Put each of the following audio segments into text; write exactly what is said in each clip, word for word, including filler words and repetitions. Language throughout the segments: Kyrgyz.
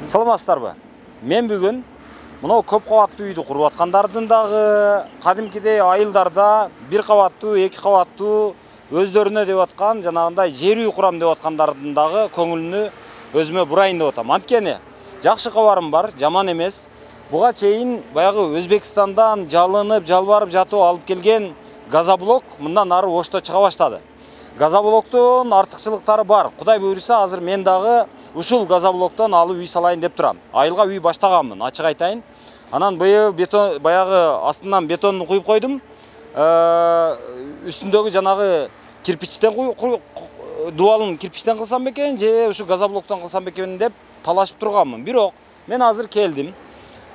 Саламатсыздарбы? Мен бүгүн мына көп кабаттуу үйдү куруп аткандардын дагы кадимкидей айылдарда бир кабаттуу, эки кабаттуу өздөрүнө деп аткан жанагындай жер үй курам деп аткандардын дагы көңүлүнү өзүмө бурайын деп атам. Анткени жакшы кабарым бар, жаман эмес. Буга чейин баягы Өзбекстандан жалынып, жалбарып жатып алып келген газоблок мындан ары ошто чыга баштады. Газоблоктун артыкчылыктары бар. Кудай буйруса, азыр мен дагы ушул газоблоктон алып үй салайын деп турам. Айылга үй баштаганмын, ачык айтайын. Анан быйыл бетон баягы астынан бетонду куюп койдум. Үстүндөгү жанагы кирпичтен дубалын кирпичтен кылсам бекен же ушу газоблоктон кылсам бекен деп талашып турганмын. Бирок мен азыр келдим.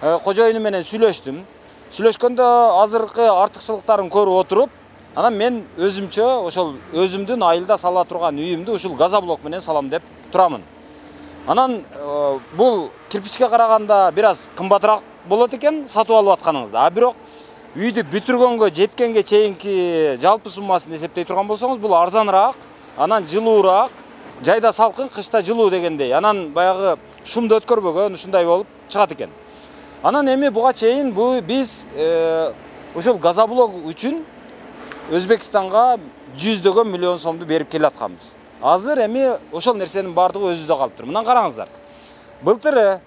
Кожоюну менен сүйлөштүм. Сүйлөшкөндө азыркы артыкчылыктарын көрүп отуруп, анан мен өзүмчө ошол өзүмдүн айылда сала турган үйүмдү ушул газоблок менен салам деп турамын. Анан бул кирпичке караганда бир аз кымбатыраак болот экен сатып алып атканыңызда. А бирок үйдү бүтүргөнгө жеткенге чейинки жалпы суммасын эсептей турган болсоңуз, бул арзаныраак, анан жылуураак, жайда салкын, кышта жылуу дегендей. Анан баягы шумду өткөрбөгөн ушундай болуп чыгат экен. Анан эми буга чейин бу биз ушул газоблок үчүн Өзбекстанга жүздөгөн миллион сомду берип келатканбыз. Азыр эми ошол нерсенин бардыгы өзүбүздө калыптыр. Мына караңыздар. Былтыры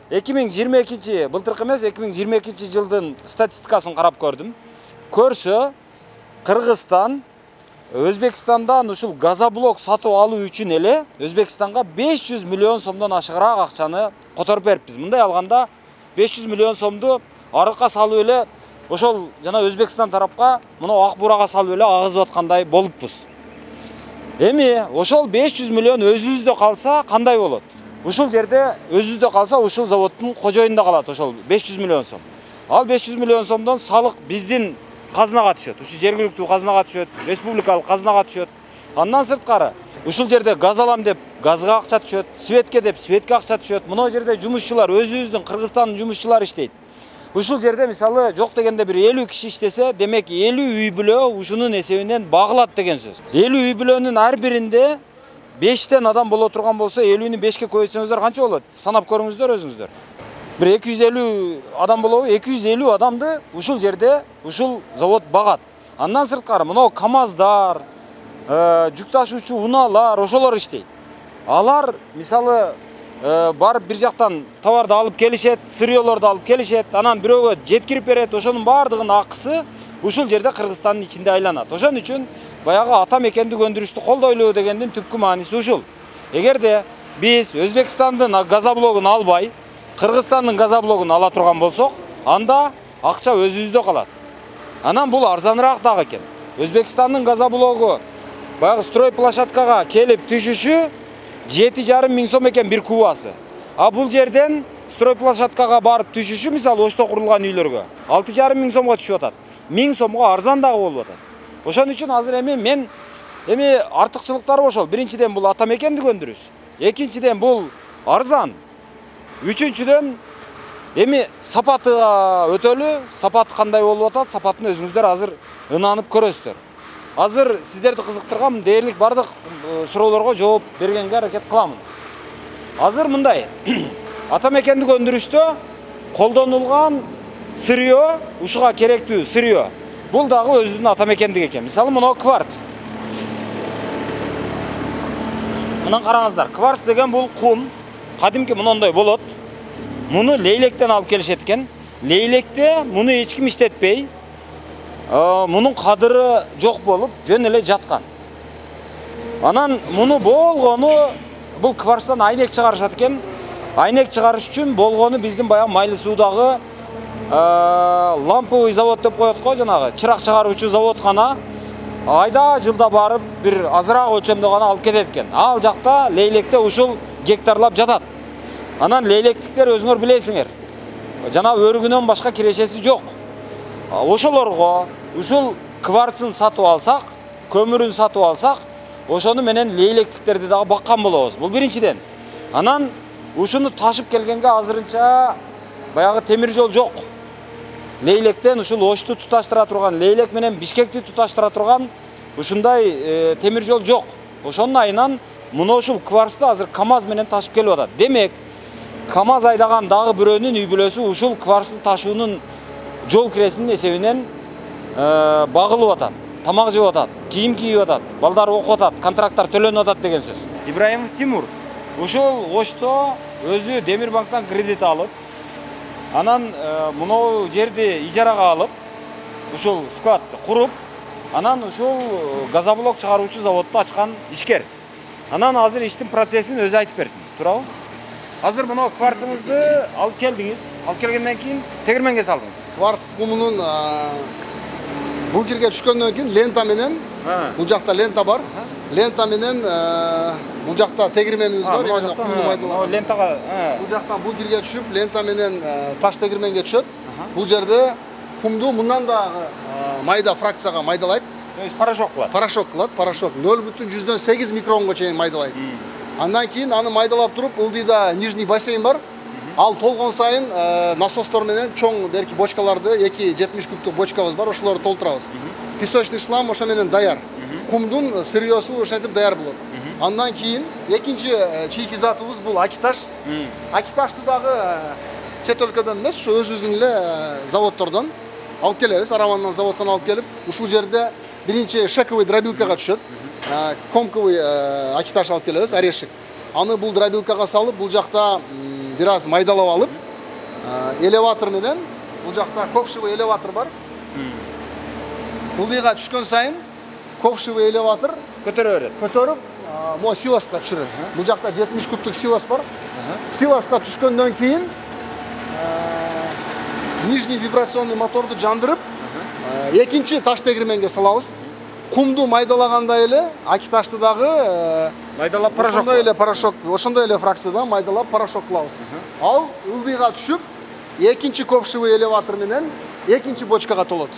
эки миң жыйырма экинчи, былтыркы эмес, эки миң жыйырма экинчи жылдын статистикасын карап көрдүм. Көрсө, Кыргызстан Өзбекстандан ушул газоблок сатып алуу үчүн эле Өзбекстанга беш жүз миллион сомдон ашыгыраак акчаны которуп бериппиз. Мындай алганда беш жүз миллион сомду арыкка салып эле ошол жана Өзбекстан тарапка мына ак бурага салып эле агызып аткандай болуппуз. Эми ошол беш жүз миллион өзүбүздө калса кандай болот? Ушул жерде өзүбүздө калса ушул заводдун кожоюнда калат ошол беш жүз миллион сом. Ал беш жүз миллион сомдон салык биздин казынага түшөт. Ушу жергиликтүү казынага түшөт, республикалык казынага түшөт. Андан сырткары ушул жерде газ алам деп газга акча түшөт, светке деп светке акча түшөт. Мына жерде жумушчулар, өзүбүздүн Кыргызстандын жумушчулары иштейт. Ушул жерде мисалы жок дегенде бир элүү киши иштесе, демек элүү үй бүлө ушунун эсебинен багылат деген сөз. элүү үй бүлөнүн ар биринде бештен адам боло турган болсо, элүүнү бешке көбөйтсөңүздөр канча болот? Санап көрүңүздөр өзүңүздөр. Бир эки жүз элүү адам болобу? эки жүз элүү адамды ушул жерде ушул завод багат. Андан сырткары мына КамАЗдар, жүк ташуучу унаалар, ошолор иштейт. Алар мисалы барып бир жактан товарды алып келишет, сырьёлорду алып келишет, анан бирөөгө жеткирип берет. Ошонун баардыгынын акысы ушул жерде Кыргызстандын ичинде айланат. Ошон үчүн баягы ата мекендик өндүрүштү колдойлуу дегендин түпкү мааниси ушул. Эгерде биз Өзбекстандын газоблогун албай, Кыргызстандын газоблогун ала турган болсок, анда акча өзүбүздө калат. Анан бул арзаныраак дагы экен. Өзбекстандын газоблогу баягы стройплощадкага келип түшүшү жети жарым миң сом экен бир кубасы. А бул жерден стройплощадкага барып түшүшү мисалы ошто курулган үйлөргө алты жарым миң сомго түшүп атат. миң сомго арзан дагы болуп атат. Ошон үчүн азыр эми мен эми артыкчылыктары ошол. Биринчиден бул ата мекендик өндүрүш. Экинчиден бул арзан. Үчүнчүдөн эми сапаты өтөлү, сапат кандай болуп атат, сапатын өзүңүздөр азыр ынанып көрөсүздөр. Азыр сиздерди кызыктырган дээрлик бардык суроолорго жооп бергенге аракет кыламын. Азыр мындай, ата мекендик өндүрүштө колдонулган сырьё, ушуга керектүү сырьё, бул дагы өзүнүн ата мекендик экен. Мисалы мына кварц. Мына караңыздар, кварц деген бул кум, кадимки мындай болот. Муну лейлектен алып келишет экен. Лейлекте муну эч ким иштетпей, мунун кадыры жок болуп, жөн эле жаткан. Анан муну болгону бул кварцтан айнек чыгарышат экен. Айнек чыгарыш үчүн болгону биздин баягы Майлы суудагы ламповый завод деп коет го, жанагы чырак чыгаруучу завод гана айда жылда барып бир азыраак өлчөмдө гана алып кетет экен. Ал жакта лейлекте ушул гектарлап жатат. Анан лейлектиктер өзүңөр билесиңер, жана өргүнөн башка кирешеси жок. Ошолорго ушул кварцын сатып алсак, көмүрүн сатып алсак, ошону менен лейлектиктерди дагы баккан болобуз. Бул биринчиден. Анан ушуну ташып келгенге азырынча баягы темир жол жок. Лейлектен ушул Ошту туташтыра турган, Лейлек менен Бишкекти туташтыра турган ушундай темир жол жок. Ошонун айынан муну ушул кварцты азыр КамАЗ менен ташып келип атат. Демек, КАМАЗ айдаган дагы бирөөнүн үй бүлөсү ушул кварцты ташуунун жол киресинин эсебинен багылып атат, тамак жеп атат, кийим кийип атат, балдар окуп атат, контракттар төлөнүп атат деген сөз. Ибраимов Тимур ушул Ошто өзү Демирбанктан кредит алып, анан мынау жерди ижарага алып, ушул склад куруп, анан ушул газоблок чыгаруучу заводду ачкан ишкер. Анан азыр иштин процессин өзү айтып берсин, туурабы? Азыр мына кварцыңызды алып келдиңиз. Алып келгенден кийин тегирменге салдыңыз. Кварц кумунун бункерге түшкөндөн кийин лента менен, бул жакта лента бар. Лента менен бул жакта тегирменибиз бар, именно кумду майдалап. Лентага, бул жактан бункерге түшүп, лента менен таш тегирменге түшөт. Бул жерде кумду мындан дагы майда фракцияга майдалайт. То есть порошок кылат. Порошок кылат, порошок нөл бүтүн жүздөн сегиз микронго чейин майдалайт. Андан кийин аны майдалап туруп, ылдыйда нижний бассейн бар. Ал толгон сайын насостор менен чоң берки бочкаларды, эки жетимиш кубтук бочкабыз бар, ошолорду толтурабыз. Песочный шлам ошо менен даяр. Кумдун сырьёсу ошентип даяр болот. Андан кийин экинчи чийки затыбыз бул акиташ. Акиташты дагы чет өлкөдөн эмес, ушу өзүбүздүн эле заводдордон алып келебиз, Аравандан заводдон алып келип, ушул жерде биринчи шековый дробилкага түшөт. Комковый акиташ алып келебиз, орешек. Аны бул дробилкага салып, бул жакта бир аз майдалап алып, элеватор менен, бул жакта ковшевый элеватор бар. Ылдыйга түшкөн сайын ковшевый элеватор көтөрө берет. Көтөрүп, мо силоска түшүрөт. Бул жакта жетимиш кубтук силос бар. Силоска түшкөндөн кийин нижний вибрационный моторду жандырып, экинчи таш тегирменге салабыз. Кумду майдалагандай эле акиташты дагы майдалап порошок. Ошондой эле порошок, ошондой эле фракцияда майдалап порошок кылабыз. Ал ылдыйга түшүп, экинчи ковшевый элеватор менен экинчи бочкага толот.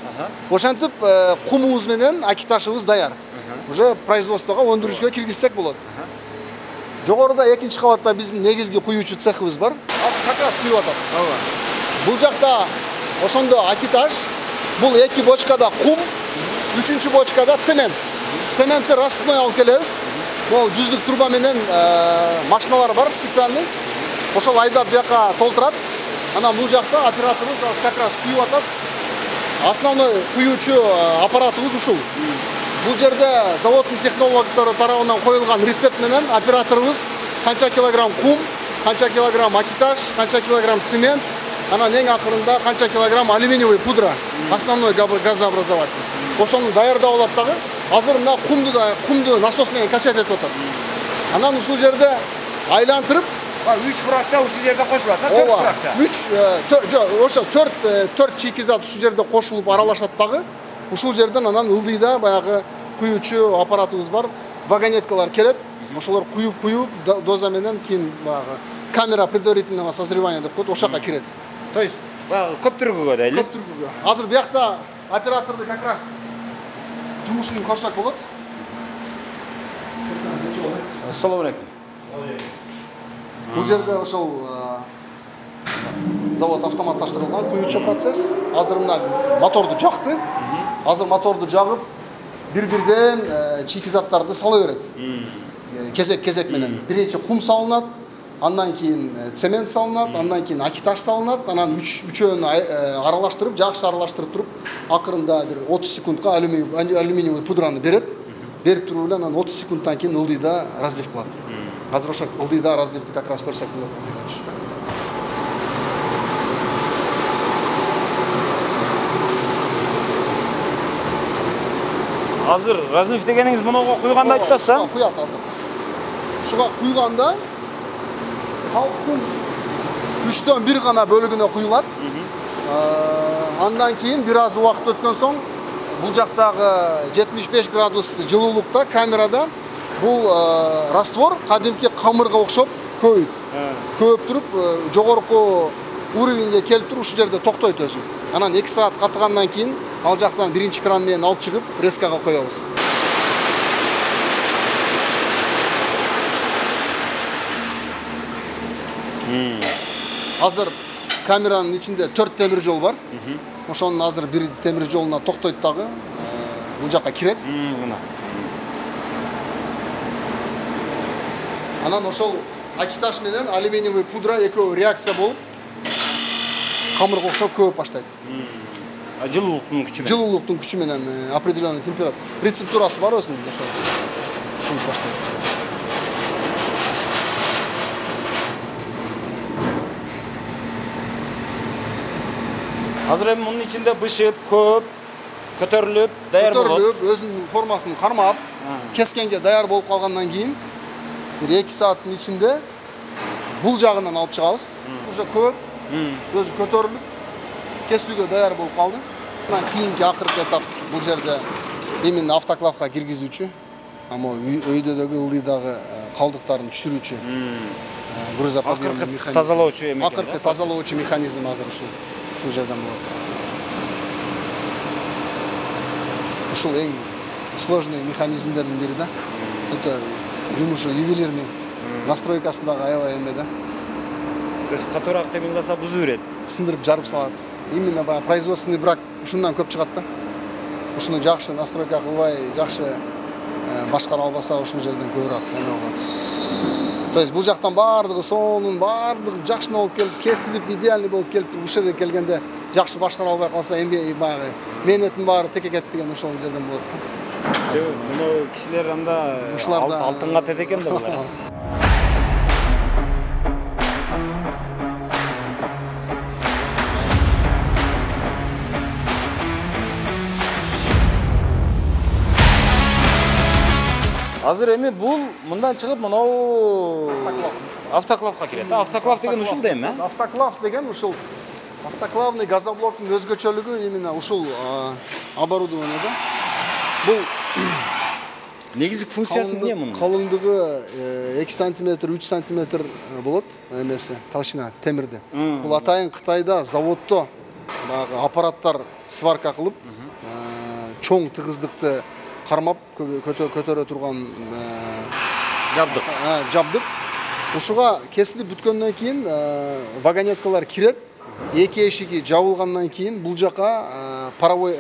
Ошентип кумубуз менен акиташыбыз даяр. Уже производствого, өндүрүшкө киргизсек болот. Жогоруда экинчи кабатта биздин негизги куюучу цехыбыз бар. Ал как раз куюп атат. Бул жакта ошондо акиташ, бул эки бочкада кум, үчүнчү бочкада цемент. Цементти рассыпной алып келебиз. Бул жүздүк труба менен машиналар бар специальный. Ошол айдап бияка толтурат. Анан бул жакта операторубуз как раз куюп атат. Основной куюучу аппаратыбыз ушул. Бул жерде заводдун технологдору тарабынан коюлган рецепт менен операторубуз канча килограмм кум, канча килограмм акиташ, канча килограмм цемент, анан эң акырында канча килограмм алюминиевый пудра, основной газообразователь. Ошону даярдап алат дагы. Азыр мына кумду да кумду насос менен качать этип атат. Анан ушул жерде айлантырып, үч фракция ушул жерде кошулат, төрт фракция. үч, жок, ошо төрт төрт чийки зат ушул жерде кошулуп аралашат дагы. Ушул жерден анан ылдыйда баягы куюучу аппаратыбыз бар, вагонеткалар келет. Ошолор куюп куюп доза менен кийин баягы камера предварительного созревания деп коет, ошака кирет. То есть баягы көп түргүгө да эле? Көп түргүгө. Азыр биякта операторду как раз жумушун көрсөк болот. Ассаламу алейкум. Бул жерде ошол завод автоматташтырылган куюучу процесс. Азыр мына моторду жакты. Азыр моторду жагып, бир-бирден чийки заттарды сала берет. Кезек-кезек менен. Биринчи кум салынат, андан кийин цемент салынат, андан кийин акиташ салынат, анан үчөөнү аралаштырып, жакшы аралаштырып туруп, акырында бир отуз секундка алюминиевый пудраны берет. Берип туруп эле анан отуз секундтан кийин ылдыйда разлив кылат. Азыр ошо ылдыйда разливди как раз көрсөк болот. Азыр разлив дегениңиз мынага куйганда айтып атасыз да? Куят азыр. Ушуга куйганда калктын үчтөн бир гана бөлүгүнө куюлат. Андан кийин бир аз убакыт өткөн соң бул жактагы жетимиш беш градус жылуулукта камерада бул раствор кадимки камырга окшоп көйүп. Көйүп туруп жогорку уровеньге келип туруп ушул жерде токтойт өзү. Анан эки саат катыгандан кийин ал жактан биринчи кран менен алып чыгып резкага коебуз. Азыр камеранын ичинде төрт темир жол бар. Ошонун азыр бир темир жолуна токтойт дагы. Бул жакка кирет. Анан ошол акиташ менен алюминиевый пудра экөө реакция болуп камырга окшоп көөп баштайт. Жылуулуктун күчү менен. Жылуулуктун күчү менен определенный температура. Рецептурасы бар өзүнүн ошо. Көөп баштайт. Азыр эми мунун ичинде бышып, көөп, көтөрүлүп, даяр болот. Көтөрүлүп, өзүнүн формасын кармап, кескенге даяр болуп калгандан кийин бир эки сааттын ичинде бул жагынан алып чыгабыз. Уже көөп, өзү көтөрүлүп, кесүүгө даяр болуп калды. Андан кийинки акыркы этап бул жерде именно автоклавга киргизүүчү, ама өйдөгү ылдыйдагы калдыктарын түшүрүүчү грузоподъемный механизм. Тазалоочу эме. Акыркы тазалоочу механизм азыр ушул ушул жерден болот. Ушул эң сложный механизмдердин бири да. Өтө жумушу ювелирный настройкасындагы аябай эме да. То есть катуураак кыймылдаса бузуу берет. Сындырып жарып салат. Именно баягы производственный брак ушундан көп чыгат да. Ушуну жакшы настройка кылбай, жакшы башкара албаса ушул жерден көбүрөөк эме болот. То есть бул жактан баардыгы сонун, баардыгы жакшы болуп келип, кесилип, идеальный болуп келип, ушул жерге келгенде жакшы башкара албай калса, эми баягы мээнеттин баары теке кетти деген ушул жерден болот да. Муну кишилер анда алтынга тете экен да булар. Азыр эми бул мындан чыгып мынау автоклавга кирет. Автоклав деген ушул да эми, э? Автоклав деген ушул автоклавный газоблоктун өзгөчөлүгү именно ушул оборудование да. Бул негизги функциясы эмне мунун? Калыңдыгы эки сантиметр, үч сантиметр болот эмеси, толщина темирди. Бул атайын Кытайда заводдо баягы аппараттар сварка кылып, чоң тыгыздыкты кармап көтөрө турган жабдык. Жабдык. Ушуга кесилип бүткөндөн кийин вагонеткалар кирет. Эки эшиги жабылгандан кийин бул жака паровой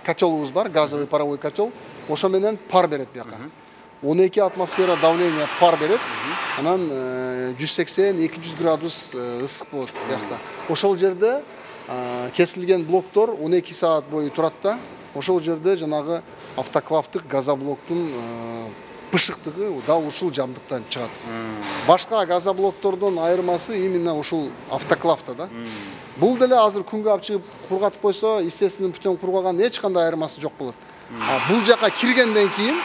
котелубуз бар, газовый паровой котел. Ошо менен пар берет бияка. он эки атмосфера давление пар берет. Анан жүз сексен эки жүз градус ысык болот биякта. Ошол жерде кесилген блоктор он эки саат бою турат да. Ошол жерде жанагы автоклавдык газоблоктун бышыктыгы дал ушул жабдыктан чыгат. Башка газоблоктордон айырмасы именно ушул автоклавда да. Бул деле азыр күнгө алып чыгып кургатып койсо, естественный путем кургаган эч кандай айырмасы жок болот. Бул жака киргенден кийин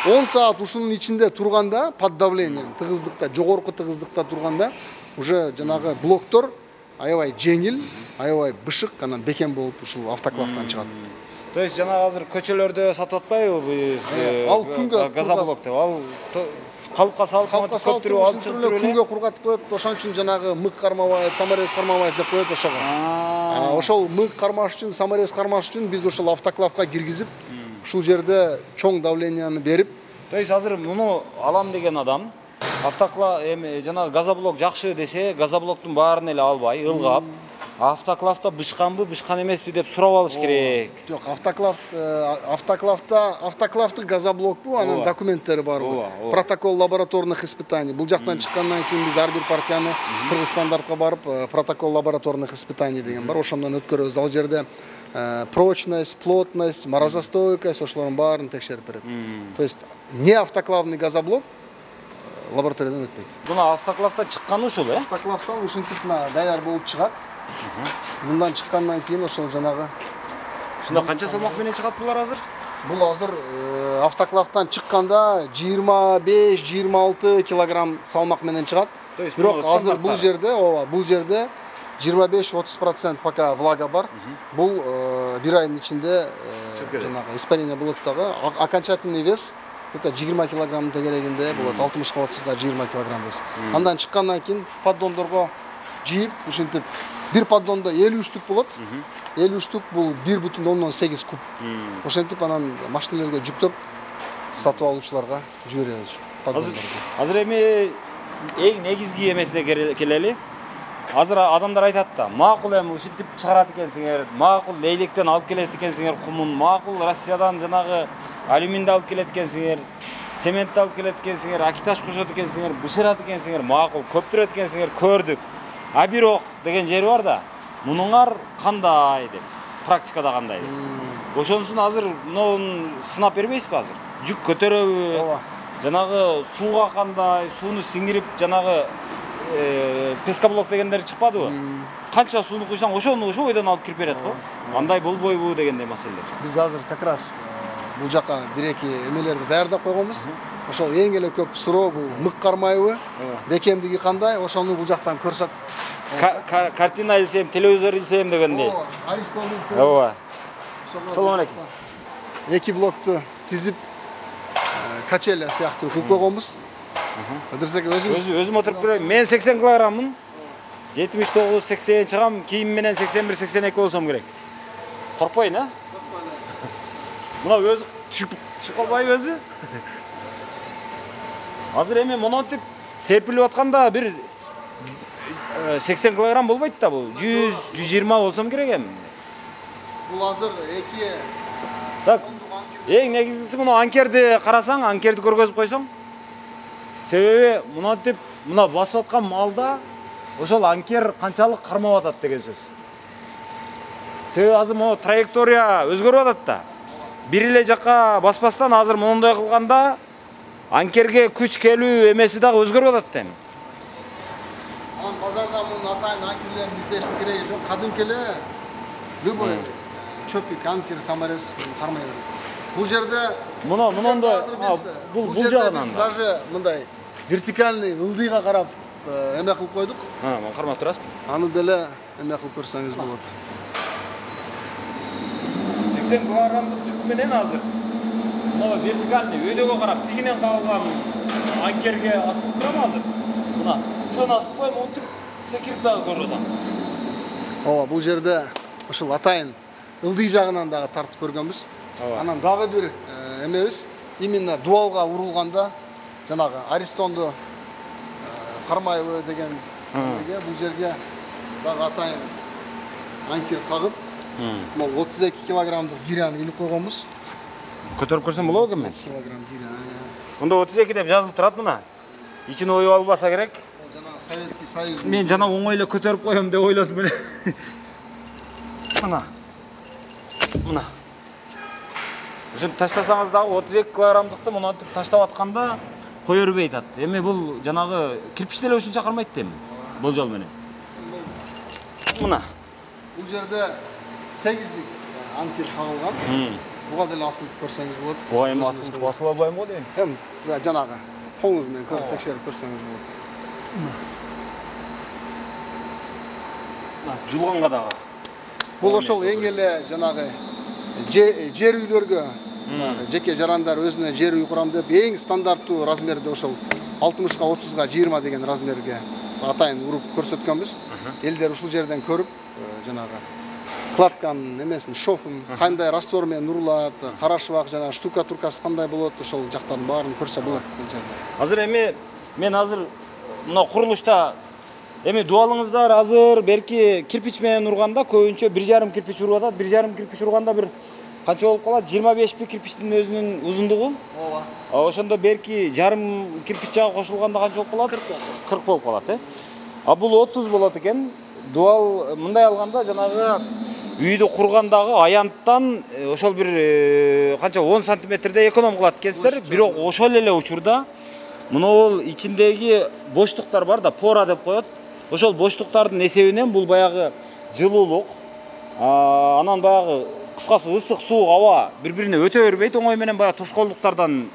он саат ушунун ичинде турганда под давлением, тыгыздыкта, жогорку тыгыздыкта турганда уже жанагы блоктор аябай жеңил, аябай бышык, анан бекем болуп ушул автоклавдан чыгат. То есть жана азыр көчөлөрдө сатып атпайбы биз? Ал күнгө газоблокто, ал калыпка салып, көптүрүп алып чыгып туруп күнгө кургатып коет. Ошон үчүн жанагы мык кармабайт, саморез кармабайт деп коет ошого. Ошол мык кармаш үчүн, саморез кармаш үчүн биз ушул автоклавга киргизип, ушул жерде чоң давленияны берип. То есть азыр муну алам деген адам автоклав эми жанагы газоблок жакшы десе, газоблоктун баарын эле албай, ылгап, автоклавда бышканбы, бышкан эмеспи деп сурап алыш керек. Жок, автоклав автоклавда автоклавдык газоблок бул, анын документтери бар. Протокол лабораторных испытаний. Бул жактан чыккандан кийин биз ар бир партияны Кыргызстандартка барып, протокол лабораторных испытаний деген бар. Ошондон өткөрөбүз. Ал жерде прочность, плотность, морозостойкость ошолордун баарын текшерип берет. То есть не автоклавный газоблок лабораториядан өтпөйт. Буна автоклавда чыкканы ушул, э? Автоклавдан ушинтип даяр болуп чыгат. Мындан чыккандан кийин ошол жанагы ушунда канча салмак менен чыгат булар азыр? Бул азыр автоклавдан чыкканда жыйырма беш жыйырма алты килограмм салмак менен чыгат. Бирок азыр бул жерде, ооба, бул жерде жыйырма беш отуз процент пока влага бар. Бул бир айдын ичинде жанагы испарение болот дагы. Окончательный вес это жыйырма килограмм тегерегинде болот, алтымышка отузга жыйырма килограмм вес. Андан чыккандан кийин поддондорго жыйып, ушинтип бир поддондо элүү үч түк болот. элүү үч түк бул бир бүтүн ондон сегиз куб. Ошентип анан машиналарга жүктөп сатып алуучуларга жиберебиз поддондорду. Азыр эми эң негизги эмесине келели. Азыр адамдар айтат да, макул эми ушинтип чыгарат экенсиңер, макул лейлектен алып келет экенсиңер кумун, макул Россиядан жанагы алюминди алып келет экенсиңер. цемент алып келет экенсиңер, акиташ кошот экенсиңер, бышырат экенсиңер, макул, көптүрөт экенсиңер, көрдүк. А бирок деген жери бар да. Мунуңар кандай деп, практикада кандай деп. Ошонусун азыр мынун сынап бербейсизби азыр? Жүк көтөрөбү? Ооба. Жанагы сууга кандай, сууну сиңирип жанагы пескоблок дегендер чыкпадыбы? Канча сууну куйсаң, ошону ошо бойдон алып кирип берет го. Андай болбойбу дегендей маселелер. Биз азыр как раз бул жака бир-эки эмелерди даярдап койгонбуз. Ошол эң эле көп суроо бул мык кармайбы, бекемдиги кандай, ошону бул жактан көрсөк. Картина илсем, телевизор илсем дегендей. Ооба, Аристон илсем. Ооба. Салам алейкум. Эки блокту тизип качеля сыяктуу кылып койгонбуз. Ыдырсек өзүбүз. Өзүм отуруп көрөйүн. Мен сексен килограммын. жетимиш тогуз сексен чыгам, кийим менен сексен бир сексен эки болсом керек. Коркпойн, а? Мына өзү түшүп түшүп калбайбы өзү? Азыр эми монотип серпилип атканда бир сексен килограмм болбойт да бул. жүз жүз жыйырма болсом керек эми. Бул азыр эки Так. Эң негизгиси муну анкерди карасаң, анкерди көргөзүп койсоң. Себеби монотип мына басып аткан малда ошол анкер канчалык кармап атат деген сөз. Себеби азыр могу траектория өзгөрүп атат да. Бир эле жакка баспастан азыр моундай кылганда анкерге күч келүү эмеси дагы өзгөрүп атат да эми. Анан базарда мунун атайын анкерлерин издештин кереги жок. Кадимки эле любой чөпүк анкер самарес кармай берет. Бул жерде муну мунунда бул бул жагынан даже мындай вертикальный ылдыйга карап эме кылып койдук. Ha, мен кармап турасызбы? Аны деле эме кылып көрсөңүз болот. сексен килограммдык жүк менен азыр мына вертикальный өйдөгө карап тигинен кагылган анкерге асылып турам азыр. Мына чон асып коюм, отуруп секирип дагы көрүп атам. Ооба, бул жерде ушул атайын ылдый жагынан дагы тартып көргөнбүз. Анан дагы бир эмебиз именно дуалга урулганда жанагы Аристонду кармайбы деген эмеге бул жерге дагы атайын анкер кагып, могу отуз эки килограммдык гиряны илип койгонбуз. Көтөрүп көрсөм болобу экен мен? Килограмм гиря. Мында отуз эки деп жазылып турат мына. Ичине оюп албаса керек. Жанагы Советский Союз. Мен жана оңой эле көтөрүп коем деп ойлодум эле. Мына. Мына. Ушинтип таштасаңыз дагы отуз эки килограммдыкты монотип таштап атканда кое бербей атат. Эми бул жанагы кирпич деле ушунча кармайт да эми. Болжол менен. Мына. Бул жерде сегиздик анкер кагылган. Буга деле асылып көрсөңүз болот. Буга эми асылып басыла албайм го дейм. Эм, жанагы колуңуз менен көрүп текшерип көрсөңүз болот. Мына жулганга дагы. Бул ошол эң эле жанагы жер үйлөргө, жеке жарандар өзүнө жер үй курам деп эң стандарттуу размерде ошол алтымышка отузга жыйырма деген размерге атайын уруп көрсөткөнбүз. Элдер ушул жерден көрүп, жанагы кладканын эмесин, шофун кандай раствор менен урулат, карашыбак жана штукатуркасы кандай болот, ошол жактардын баарын көрсө болот бул жерде. Азыр эми мен азыр мына курулушта эми дуалыңыздар азыр берки кирпич менен урганда көбүнчө бир жарым кирпич уруп атат. бир жарым кирпич урганда бир канча болуп калат? жыйырма беш би кирпичтин өзүнүн узундугу? Ооба. Ошондо берки жарым кирпич жагы кошулганда канча болуп калат? кырк болуп калат, э? А бул отуз болот экен. Дуал мындай алганда жанагы үйдү кургандагы аянттан ошол бир канча он сантиметрде эконом кылат экенсиздер. Бирок ошол эле учурда мынол ичиндеги боштуктар бар да, пора деп коет. Ошол боштуктардын эсебинен бул баягы жылуулук, анан баягы кыскасы ысык суук аба бири-бирине өтө бербейт, оңой менен баягы тоскоолдуктардан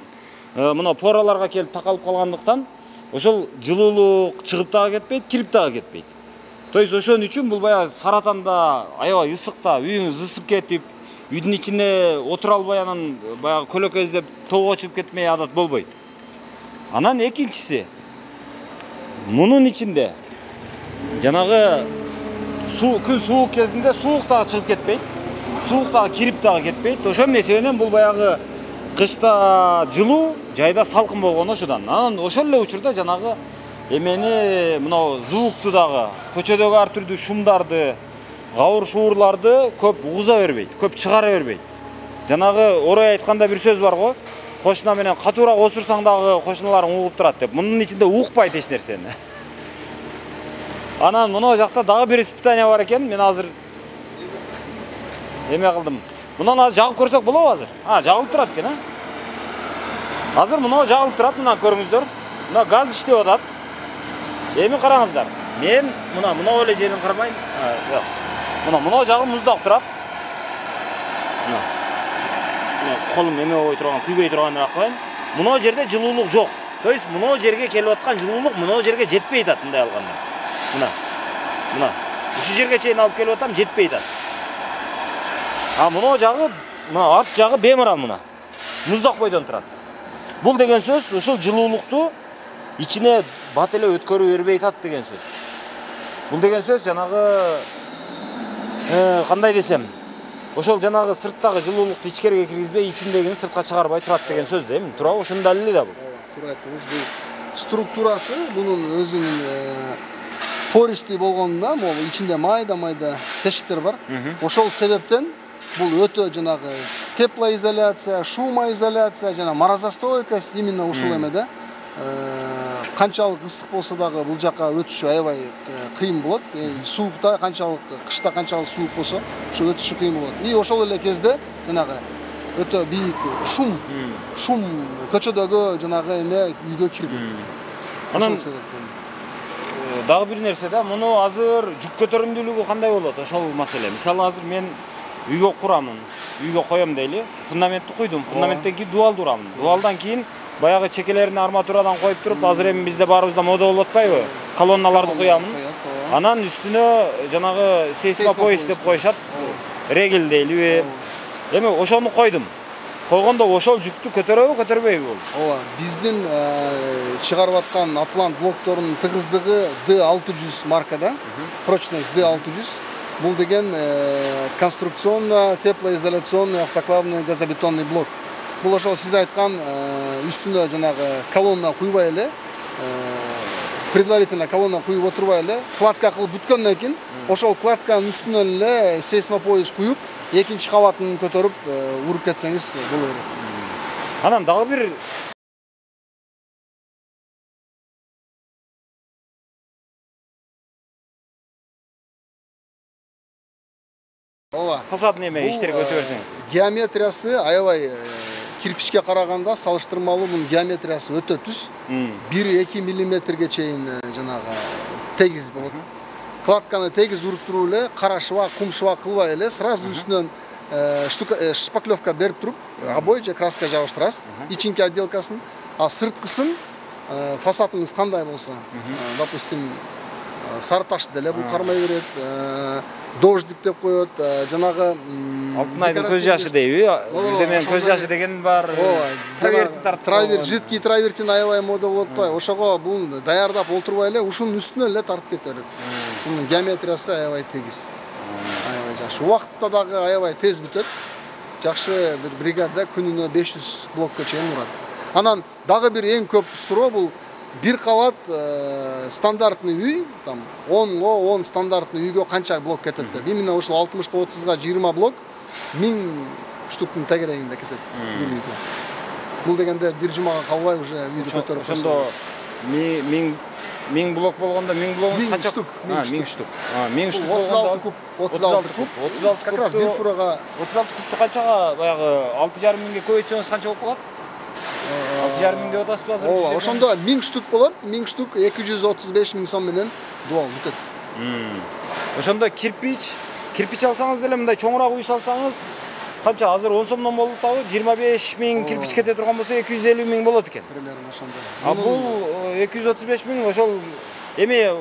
мына пораларга келип такалып калгандыктан ошол жылуулук чыгып дагы кетпейт, кирип дагы кетпейт. То есть ошон үчүн бул баягы саратанда аябай ысыкта үйүңүз ысып кетип, үйдүн ичинде отура албай анан баягы көлөкө издеп тоого чыгып кетмей адат болбойт. Анан экинчиси мунун ичинде жанагы суу күн суук кезинде суук дагы чыгып кетпейт, суук дагы кирип дагы кетпейт. Ошонун эсебинен бул баягы кышта жылуу, жайда салкын болгон ошодан. Анан ошол эле учурда жанагы эмени мына звукту дагы, көчөдөгү ар түрдүү шумдарды, гаур шуурларды көп угуза бербейт, көп чыгара бербейт. Жанагы орой айтканда бир сөз бар го, кошуна менен катуураак осурсаң дагы кошуналарың угуп турат деп. Мунун ичинде укпайт эч нерсени. Анан мына жакта дагы бир испытание бар экен. Мен азыр эме кылдым. Мунан азыр жагып көрсөк болобу азыр? А, жагылып турат экен, а? Азыр мына жагылып турат, мына көрүңүздөр. Мына газ иштеп атат. Эми караңыздар. Мен мына мына эле жерин кармайм. Жок. Мына мына жагы муздап турат. Мына. Мына колум эме болбой турган, күйбөй турганын акылайм. Мына жерде жылуулук жок. То есть мына жерге келип аткан жылуулук мына жерге жетпей атат мындай алганда. Мына. Мына. Ушул жерге чейин алып келип атам, жетпей атат. А мына жагы, мына арт жагы бемарал мына. Муздак бойдон турат. Бул деген сөз ушул жылуулукту ичине бат эле өткөрүп бербей атат деген сөз. Бул деген сөз жанагы э кандай десем, ошол жанагы сырттагы жылуулукту ичкерге киргизбей, ичиндегини сыртка чыгарбай турат деген сөз да эми. Туурабы? Ошонун далили да бул. Туура айттыңыз. Бул структурасы бунун өзүнүн пористий болгонунда, могу ичинде майда-майда тешиктер бар. Ошол себептен бул өтө жанагы теплоизоляция, шумоизоляция жана морозостойкость именно ушул эмеде канчалык ысык болсо дагы бул жака өтүшү аябай кыйын болот. Суукта канчалык, кышта канчалык суук болсо, ошо өтүшү кыйын болот. И ошол эле кезде жанагы өтө бийик шум, шум көчөдөгү жанагы эме үйгө кирбейт. Анан дагы бир нерсе да, муну азыр жүк көтөрүмдүүлүгү кандай болот? Ошол маселе. Мисалы азыр мен үйгө курамын, үйгө коем дейли, фундаментти куйдум, фундаменттен кийин дуалды урамын. Дуалдан кийин баягы чекелерин арматурадан коюп туруп, азыр эми бизде баарыбызда мода болуп атпайбы? Колонналарды куямын. Анан үстүнө жанагы сейсмопояс деп коюшат. Регель дейлиби? Эми ошону койдум. Койгондо ошол жүктү көтөрөбү, көтөрбөйбү бул? Ооба, биздин чыгарып аткан Атлант блокторунун тыгыздыгы ди алты жүз маркада, прочность ди алты жүз. Бул деген конструкционно теплоизоляционный автоклавный газобетонный блок. Бул ошол сиз айткан үстүнө жанагы колонна куйбай эле, предварительно колонна куюп отурбай эле, кладка кылып бүткөндөн кийин ошол кладканын үстүнө эле сейсмопояс куюп, экинчи кабатын көтөрүп уруп кетсеңиз боло берет. Анан дагы бир Ооба. Фасад неме иштерге өтө берсеңиз. Геометриясы аябай кирпичке караганда салыштырмалуу мунун геометриясы өтө түз. бир эки миллиметрге чейин жанагы тегиз болот. Кладканы тегиз уруп туруп эле, кара шыбак, кум шыбак кылбай эле, сразу үстүнөн шпаклевка берип туруп, обой же краска жабыштырасыз, ичинки отделкасын, а сырткысын фасадыңыз кандай болсо, допустим, сары таш деле бул кармай берет, дождик деп коет, жанагы Алтынайдын көз жашы дейби? Бизде менен көз жашы деген бар. Травертин тартып. Травер, жидкий травертин аябай мода болуп атпайбы? Ошого бул даярдап олтурбай эле, ушунун үстүнө эле тартып кете берет. Мунун геометриясы аябай тегиз. Аябай жакшы. Убакытта дагы аябай тез бүтөт. Жакшы бир бригада күнүнө беш жүз блокко чейин урат. Анан дагы бир эң көп суроо бул бир кабат стандартный үй, там онго он стандартный үйгө канча блок кетет деп. Именно ушул алтымышка отузга жыйырма блок миң штуктун тегерегинде кетет бир үйгө. Бул дегенде бир жумага калбай уже үйдү көтөрүп. Ошондо миң миң блок болгондо миң блогуңуз канча? А, миң штук. А, миң штук отуз алты куб, отуз алты куб. отуз алты как раз бир фурага отуз алты кубту канчага баягы алты жарым миңге көбөйтсөңүз канча болуп калат? алты жарым миң деп атасызбы азыр? Ооба, ошондо миң штук болот. миң штук эки жүз отуз беш миң сом менен дуал бүтөт. Ошондо кирпич, кирпич алсаңыз деле мындай чоңураак үй салсаңыз, канча азыр он сомдон болуп атабы? жыйырма беш миң кирпич кете турган болсо эки жүз элүү миң болот экен. Примерно ошондой. А бул эки жүз отуз беш миң ошол эми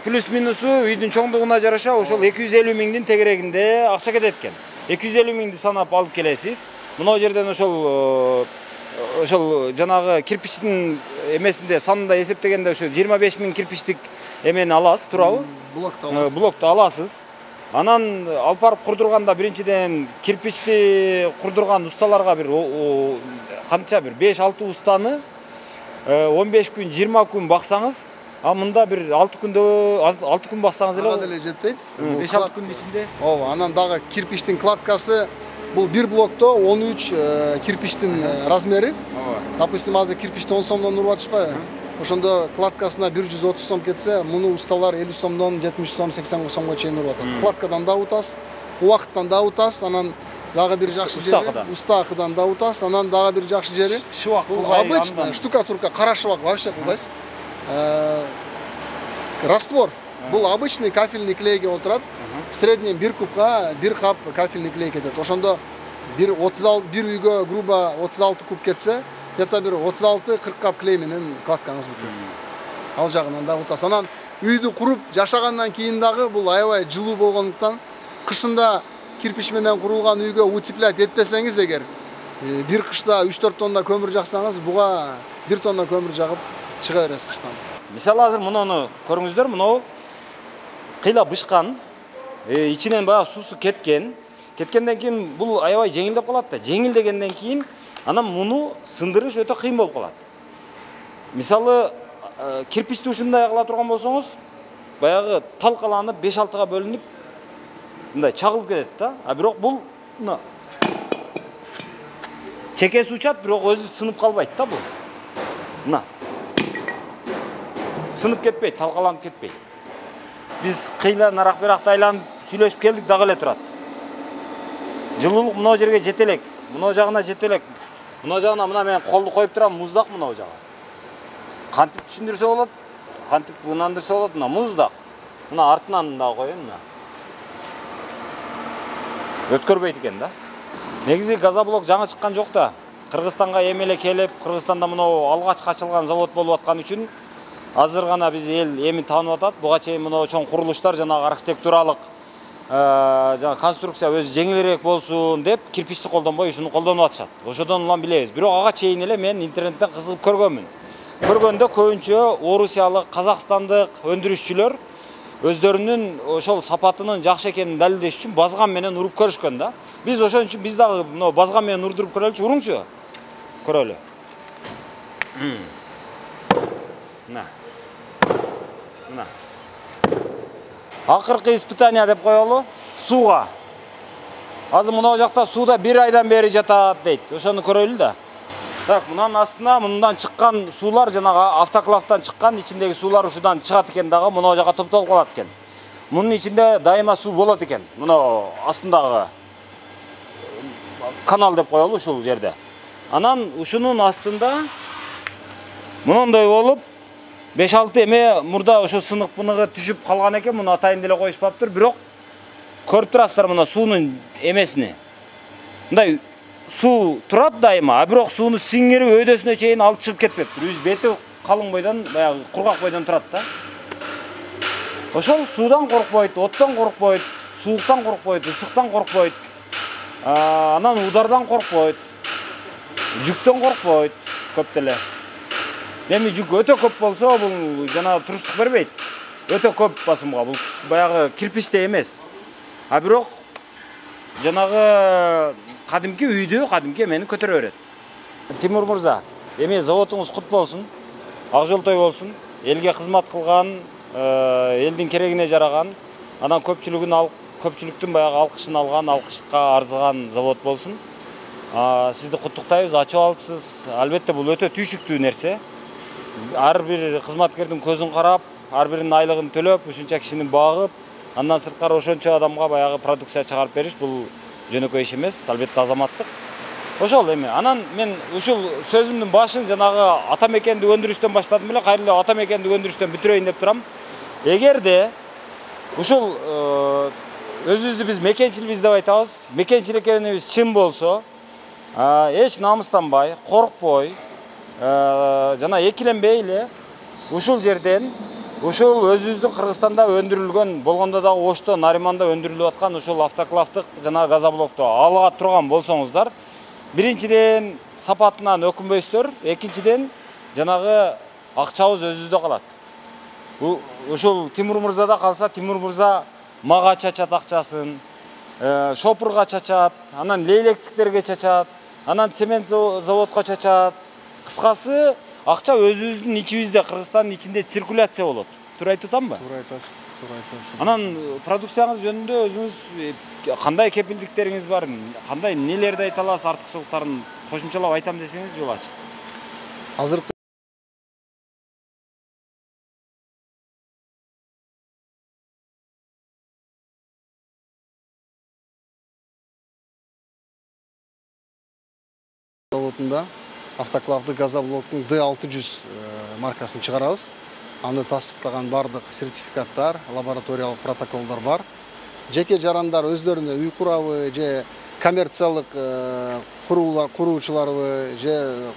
плюс минусу үйдүн чоңдугуна жараша ошол эки жүз элүү миңдин тегерегинде акча кетет экен. эки жүз элүү миңди санап алып келесиз. Мына жерден ошол ошол жанагы кирпичтин эмесинде санында эсептегенде ошо жыйырма беш миң кирпичтик эмени аласыз, туурабы? Блокту аласыз. Блокту аласыз. Анан алып барып курдурганда биринчиден кирпичти курдурган усталарга бир канча бир беш алты устаны он беш күн, жыйырма күн баксаңыз, а мында бир алты күндө алты күн баксаңыз эле ага деле жетпейт. беш алты күндүн ичинде. Ооба, анан дагы кирпичтин кладкасы бул бир блокто он үч кирпичтин размери. Допустим, азыр кирпичти он сомдон уруп атышпайбы? Ошондо кладкасына бир жүз отуз сом кетсе, муну усталар элүү сомдон жетимиш сом, сексен сомго чейин уруп атат. Кладкадан да утас, убакыттан да утас, анан дагы бир жакшы жери уста акыдан да утас, анан дагы бир жакшы жери шыбак кылбай, обычный штукатурка, кара шыбак вообще кылбайсыз. Раствор. Бул обычный кафельный клейге отурат. В среднем бир кубка бир кап кафельный клей кетет. Ошондо бир отуз алты бир үйгө грубо отуз алты куб кетсе, где-то бир отуз алты кырк кап клей менен кладкаңыз бүтөт. Ал жагынан да утас. Анан үйдү куруп жашагандан кийин дагы бул аябай жылуу болгондуктан кышында кирпич менен курулган үйгө утеплять этпесеңиз эгер, бир кышта үч төрт тонна көмүр жаксаңыз, буга бир тонна көмүр жагып чыга бересиз кыштан. Мисалы азыр муну көрүңүздөр, мынау кыйла бышкан, ичинен баягы суусу кеткен. Кеткенден кийин бул аябай жеңилдеп калат да. Жеңилдегенден кийин анан муну сындырыш өтө кыйын болуп калат. Мисалы кирпичти ушундай кыла турган болсоңуз, баягы талкаланып беш алтыга бөлүнүп мындай чагылып кетет да. А бирок бул мына чекеси учат, бирок өзү сынып калбайт да бул. Мына сынып кетпейт, талкаланып кетпейт. Биз кыйла нарак беракта айланып сүйлөшүп келдик, дагы эле турат. Жылуулук мына жерге жете элек, мына жагына жете элек. Мына жагына мына мен колду коюп турам, муздак мына жагы. Кантип түшүндүрсө болот, кантип ынандырса болот, мына муздак. Мына артынан да коеюн мына. Өткөрбөйт экен да. Негизи газоблок жаңы чыккан жок да. Кыргызстанга эмеле келип, Кыргызстанда мына алгач ачылган завод болуп аткан үчүн азыр гана биз эл эми таанып атат. Буга чейин мына чоң курулуштар, жанагы архитектуралык жана конструкция өзү жеңилирээк болсун деп кирпичти колдонбой ушуну колдонуп атышат. Ошодон улам билебиз. Бирок ага чейин эле мен интернеттен кызыгып көргөнмүн. Көргөндө көбүнчө орусиялык, казакстандык өндүрүшчүлөр өздөрүнүн ошол сапатынын жакшы экенин далилдеш үчүн базган менен уруп көрүшкөн да. Биз ошон үчүн биз дагы мына базган менен урдуруп көрөлүчү, уруңчу. Көрөлү. Мына. Мына. Акыркы испытание деп коелу, сууга. Азыр мына жакта сууда бир айдан бери жатат дейт. Ошону көрөлү да. Так, мынанын астына мындан чыккан суулар, жанагы автоклавдан чыккан ичиндеги суулар ушудан чыгат экен дагы, мына жака топтолуп калат экен. Мунун ичинде дайыма суу болот экен. Мына астындагы канал деп коелу ушул жерде. Анан ушунун астында мындай болуп беш алты эме мурда ошо сынык пыныгы түшүп калган экен, муну атайын деле коюшпаптыр, бирок көрүп турасыздар мына суунун эмесини. Мындай суу турат дайыма, а бирок сууну сиңирип өйдөсүнө чейин алып чыгып кетпептир. Үз бети калың бойдон, баягы кургак бойдон турат да. Ошол суудан коркпойт, оттон коркпойт, сууктан коркпойт, ысыктан коркпойт. Анан удардан коркпойт. Жүктөн коркпойт көп деле. Эми жүк өтө көп болсо, бул жана туруштук бербейт. Өтө көп басымга, бул баягы кирпичте эмес. А бирок жанагы кадимки үйдү, кадимки эмени көтөрө берет. Тимур мырза, эми заводуңуз кут болсун, ак жолтой болсун. Элге кызмат кылган, элдин керегине жараган, анан көпчүлүгүн алып, көпчүлүктүн баягы алкышын алган, алкышка арзыган завод болсун. Сизди куттуктайбыз, ачып алыпсыз. Албетте бул өтө түйшүктүү нерсе. Ар бир кызматкердин көзүн карап, ар биринин айлыгын төлөп, ушунча кишини багып, андан сырткары ошончо адамга баягы продукция чыгарып бериш бул жөнөкөй иш эмес, албетте азаматтык. Ошол эми. Анан мен ушул сөзүмдүн башын жанагы ата мекенди өндүрүштөн баштадым эле, кайра эле ата мекенди өндүрүштөн бүтүрөйүн деп турам. Эгерде ушул өзүбүздү биз мекенчилбиз деп айтабыз, мекенчил экенибиз чын болсо, эч намыстанбай, коркпой, жана экиленбей эле ушул жерден, ушул өзүбүздүн Кыргызстанда өндүрүлгөн, болгондо дагы Ошто, Нариманда өндүрүлүп аткан ушул автоклавдык жана газоблокто ала турган болсоңуздар, биринчиден сапатынан өкүнбөйсүздөр, экинчиден жанагы акчабыз өзүбүздө калат. Ушул Тимур мырзада калса, Тимур мырза мага чачат акчасын, шопурга чачат, анан лейлектиктерге чачат, анан цемент заводко чачат. Кыскасы, акча өзүбүздүн ичибизде, Кыргызстандын ичинде циркуляция болот. Туура айтып атамбы? Туура айтасыз. туура айтасыз. Анан продукцияңыз жөнүндө өзүңүз кандай кепилдиктериңиз бар? Кандай нелерди айта аласыз? Артыкчылыктарын кошумчалап айтам десеңиз жол ачык. Азыркы заводунда автоклавды газоблоктун Д алты жүз маркасын чыгарабыз. Аны тастыктаган бардык сертификаттар, лабораториялык протоколдор бар. Жеке жарандар өздөрүнө үй курабы же коммерциялык курулуулар куруучуларбы же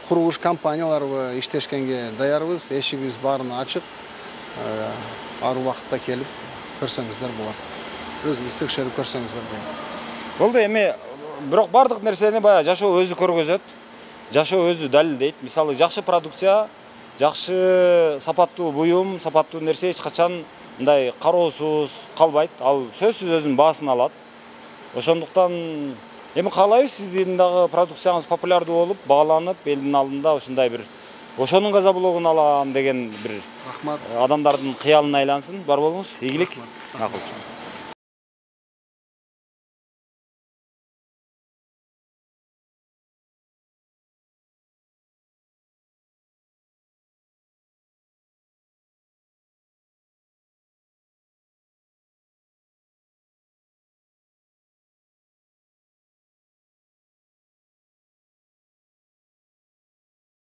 курулуш компанияларбы иштешкенге даярбыз. Эшигибиз баарына ачык. Ар убакытта келип көрсөңүздөр болот. Өзүңүз текшерип көрсөңүздөр болот. Болду, эми бирок бардык нерсени баягы жашоо өзү көргөзөт. Жашоо өзү далилдейт. Мисалы жакшы продукция, жакшы сапаттуу буюм, сапаттуу нерсе эч качан мындай кароосуз калбайт. Ал сөзсүз өзүнүн баасын алат. Ошондуктан эми каалайбыз сиздин дагы продукцияңыз популярдуу болуп, бааланып, элдин алдында ушундай бир ошонун газоблогун алам деген бир Рахмат. адамдардын кыялына айлансын. Бар болуңуз, ийгилик. Макул.